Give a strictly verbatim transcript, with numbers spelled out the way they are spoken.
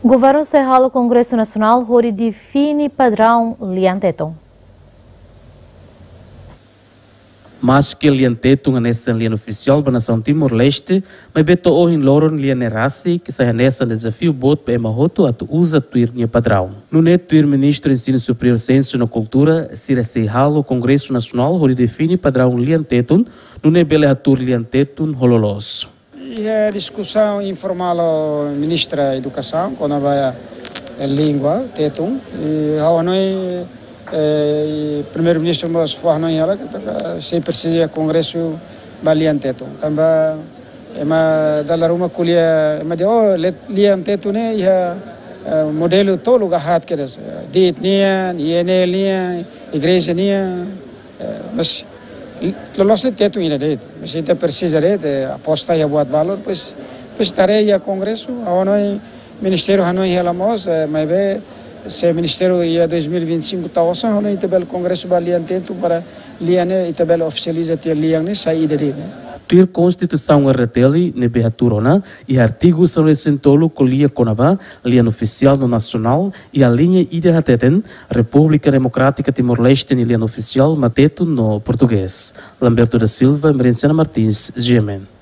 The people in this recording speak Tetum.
Governu sei halo Kongresu Nasionál hodi define padraun lian Tetun. Maske lian Tetun hanesan lian ofisiál ba nasaun Timor-Leste, maibé to'o ohin loron lian ne'e rasik sai hanesan dezafiu boot ba ema hotu atu uza tuir nia padraun. Nune'e tuir Ministru Ensinu Superiór, Siénsia no Kultura, sira sei halo Kongresu Nasionál hodi define padraun lian Tetun, nune'e bele hatuur lian Tetun ho loloos. Iha diskusaun informál ho Ministra Edukasaun kona-ba, eh, língua Tetun. I ha'u hanoin, eh, i Primeiru-Ministru mós fó hanoin hela katak sei presiza kongresu ba lian Tetun. Tanba ema dala ruma ko'alia, ema dehan, oh, le-, lian Tetun ne'e iha, eh, modelu tolu ka haat kedas, eh, diit nian, I N L nian, igreja nian, eh, mas loloos ne'e Tetun ida de'it. Mas ita presiza de'it, eh, aposta iha buat balun, pois, pois haree iha kongresu, ha'u hanoin ministériu hanoin hela mós, eh, maibé se ministériu iha dois mil e vinte e cinco tau osan, ha'u hanoin ita bele kongresu ba lian Tetun para lian ne'e ita bele ofisializa tiha lian ne'e sai ida de'it, ne'e. Tuir Konstituisaun R D T L ne'ebé hatuur ona, iha artigu sanulu-resin-tolu ko'alia kona-ba lian ofisiál no nasionál, iha liña ida hateten, Repúblika Demokrátika Timor-Leste nia lian ofisiál mak Tetun no Portugés. Lamberto da Silva, Merenciana Martins, G M N.